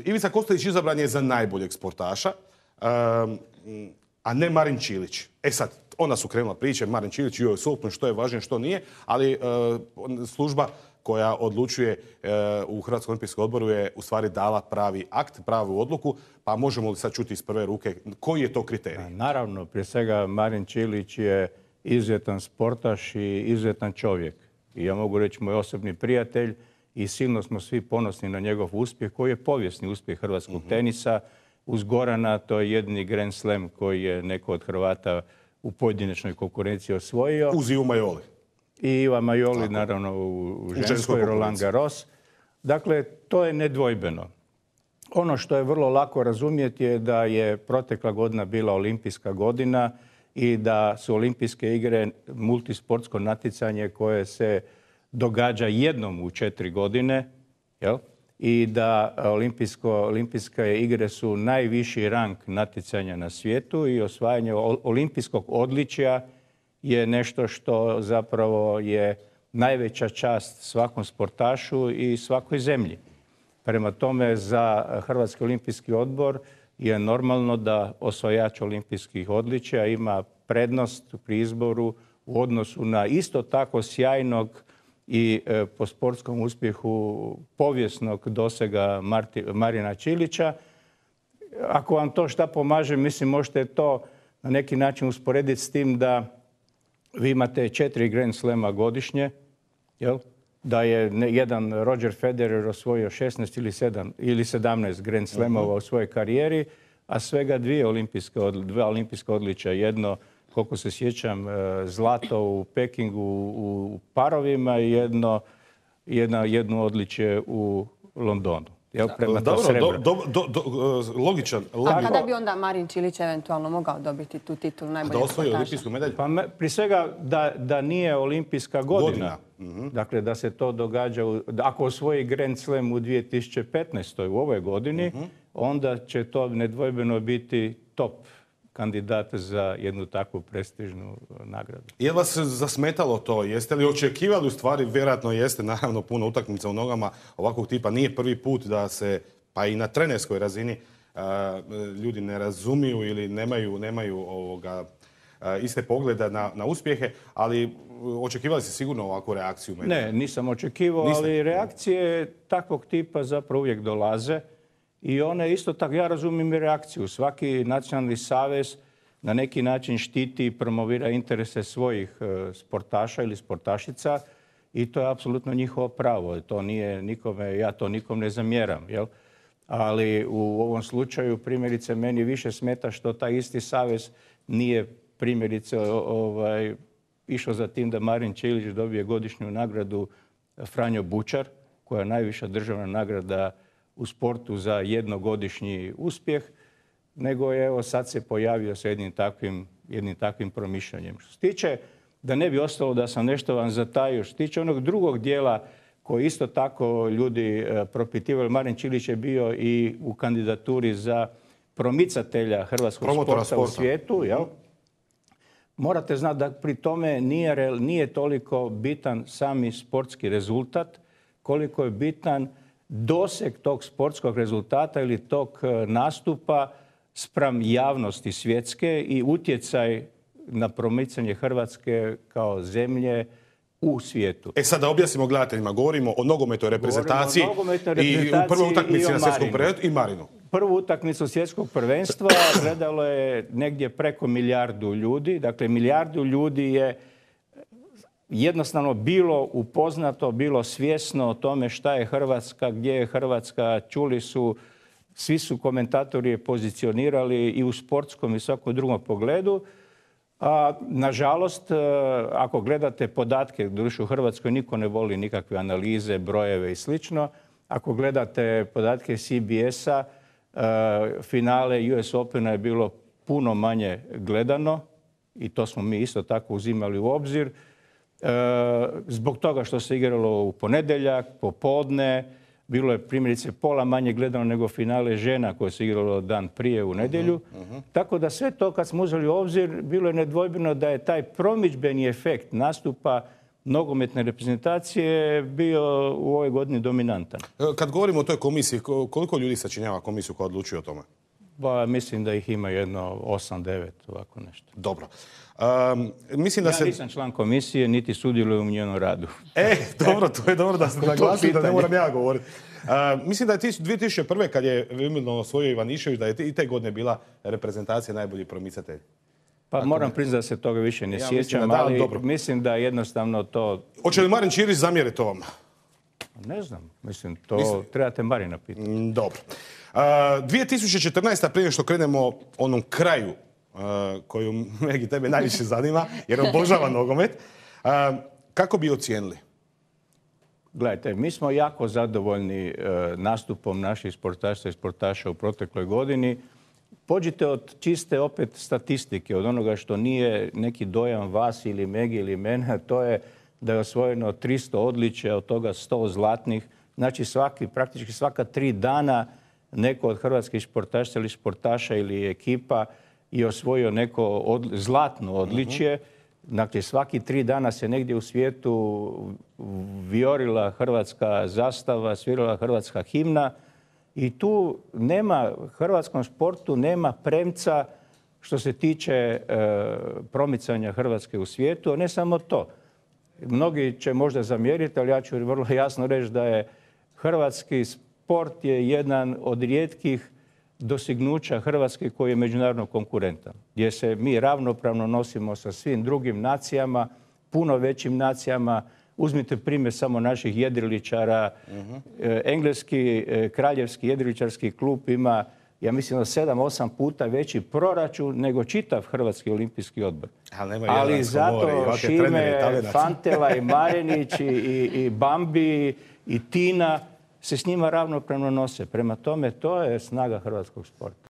Ivica Kostelić izabran je za najboljeg sportaša, a ne Marin Čilić. E sad, onda su krenula priče, Marin Čilić i US Open, što je važnije, što nije, ali služba koja odlučuje u Hrvatskom olimpijskom odboru je u stvari dala pravi akt, pravu odluku, pa možemo li sad čuti iz prve ruke koji je to kriterij? Naravno, prije svega Marin Čilić je izuzetan sportaš i izuzetan čovjek. I ja mogu reći moj osobni prijatelj i silno smo svi ponosni na njegov uspjeh koji je povijesni uspjeh hrvatskog tenisa. Uz Gorana to je jedini Grand Slam koji je neko od Hrvata u pojedinačnoj konkurenciji osvojio. Uz Ivu Majoli. I Iva Majoli, naravno, u ženskoj, Roland Garros. Dakle, to je nedvojbeno. Ono što je vrlo lako razumjeti je da je protekla godina bila olimpijska godina i da su olimpijske igre multisportsko natjecanje koje se događa jednom u 4 godine, jel? I da olimpijske igre su najviši rang natjecanja na svijetu i osvajanje olimpijskog odličja je nešto što zapravo je najveća čast svakom sportašu i svakoj zemlji. Prema tome, za Hrvatski olimpijski odbor je normalno da osvajač olimpijskih odličja ima prednost pri izboru u odnosu na isto tako sjajnog i po sportskom uspjehu povijesnog dosega Marina Čilića. Ako vam to šta pomaže, mislim, možete to na neki način usporediti s tim da vi imate 4 Grand Slema godišnje, jel? Da je jedan Roger Federer osvojio 16 ili 17 Grand Slamova u svojoj karijeri, a svega 2 olimpijska odličja. Jedno, koliko se sjećam, zlato u Pekingu u parovima i jedno odličje u Londonu. Logičan. A kada bi onda Marin Čilić eventualno mogao dobiti tu titulu najboljeg sportaša? Da osvoji olimpijsku medalju? Pa prije svega da nije olimpijska godina. Dakle, da se to događa, ako osvoji Grand Slam u 2015. u ovoj godini, onda će to nedvojbeno biti top kandidat za jednu takvu prestižnu nagradu. Je li vas zasmetalo to? Jeste li očekivali, u stvari, vjerojatno jeste, naravno puno utakmica u nogama ovakvog tipa, nije prvi put da se, pa i na trenerskoj razini, ljudi ne razumiju ili nemaju iste pogleda na uspjehe, ali očekivali ste sigurno ovakvu reakciju? Ne, nisam očekivao, ali reakcije takvog tipa zapravo uvijek dolaze. I one isto tako, ja razumijem i reakciju. Svaki nacionalni savez na neki način štiti i promovira interese svojih sportaša ili sportašica i to je apsolutno njihovo pravo. To nije nikome, ja to nikom ne zamjeram. Jel? Ali u ovom slučaju primjerice meni više smeta što taj isti savez nije primjerice išao za tim da Marin Čilić dobije godišnju nagradu Franjo Bučar, koja je najviša državna nagrada u sportu za jednogodišnji uspjeh, nego je evo sad se pojavio sa jednim takvim promišljanjem. Što se tiče, da ne bi ostalo da sam nešto vam zatajio, što se tiče onog drugog dijela koji isto tako ljudi propitivali, Marin Čilić je bio i u kandidaturi za promicatelja hrvatskog sporta u svijetu. Jel? Morate znati da pri tome nije toliko bitan sami sportski rezultat, koliko je bitan doseg tog sportskog rezultata ili tog nastupa spram javnosti svjetske i utjecaj na promicanje Hrvatske kao zemlje u svijetu. Sad da objasnimo gledateljima, govorimo o nogometnoj reprezentaciji i u prvoj utakmici na svjetskom prvenstvu i Marinu. Prvu utakmicu svjetskog prvenstva gledalo je negdje preko 1 milijardu ljudi. Dakle, 1 milijardu ljudi je jednostavno bilo upoznato, bilo svjesno o tome šta je Hrvatska, gdje je Hrvatska. Čuli su, svi su komentatori je pozicionirali i u sportskom i svakom drugom pogledu. A, nažalost, ako gledate podatke, doduše u Hrvatskoj niko ne voli nikakve analize, brojeve i slično. Ako gledate podatke CBS-a, finale US Opena je bilo puno manje gledano i to smo mi isto tako uzimali u obzir. Zbog toga što se igralo u ponedjeljak, popodne, bilo je primjerice pola manje gledano nego finale žena koje se igralo dan prije u nedjelju. Tako da sve to kad smo uzeli u obzir, bilo je nedvojbeno da je taj promidžbeni efekt nastupa nogometne reprezentacije bio u ovoj godini dominantan. Kad govorimo o toj komisiji, koliko ljudi sačinjava komisiju koja odlučuje o tome? Pa mislim da ih ima jedno 8-9, ovako nešto. Dobro. Mislim da ja nisam član komisije, niti sudjelujem u njenom radu. Dobro, to je dobro da ste naglasili da ne moram ja govoriti. Mislim da je 2001. kad je Wimbledon osvojio Ivanišević, da je i te godine bila reprezentacija najbolji promicatelj. Pa moram priznati da se toga više ne sjećam, ali mislim da jednostavno to... Hoće li Marin Čilić zamjeriti to vam? Ne znam, mislim, to trebate Marina pitati. Dobro. 2014. prije što krenemo onom kraju koju Megi tebe najviše zanima, jer obožava nogomet, kako bi ocijenili? Gledajte, mi smo jako zadovoljni nastupom naših sportaša i sportaša u protekloj godini. Pođite od čiste opet statistike, od onoga što nije neki dojam vas ili Megi ili mene, to je da je osvojeno 300 odličja, od toga 100 zlatnih. Znači praktički svaka 3 dana neko od hrvatskih sportaša ili sportaša ili ekipa je osvojio neko zlatno odličje. Dakle, svaki 3 dana se negdje u svijetu vijorila hrvatska zastava, svirala hrvatska himna i tu nema, hrvatskom sportu nema premca što se tiče promicanja Hrvatske u svijetu, a ne samo to. Mnogi će možda zamjeriti, ali ja ću vrlo jasno reći da je hrvatski sport je jedan od rijetkih dostignuća Hrvatske koji je međunarodno konkurentan. Gdje se mi ravnopravno nosimo sa svim drugim nacijama, puno većim nacijama. Uzmite primjer samo naših jedriličara. Engleski kraljevski jedriličarski klub ima, ja mislim, 7-8 puta veći proračun nego čitav Hrvatski olimpijski odbor. Ali zato Šime, Fantela i Marinić i Bambi i Tina se s njima ravnopravno nose. Prema tome, to je snaga hrvatskog sporta.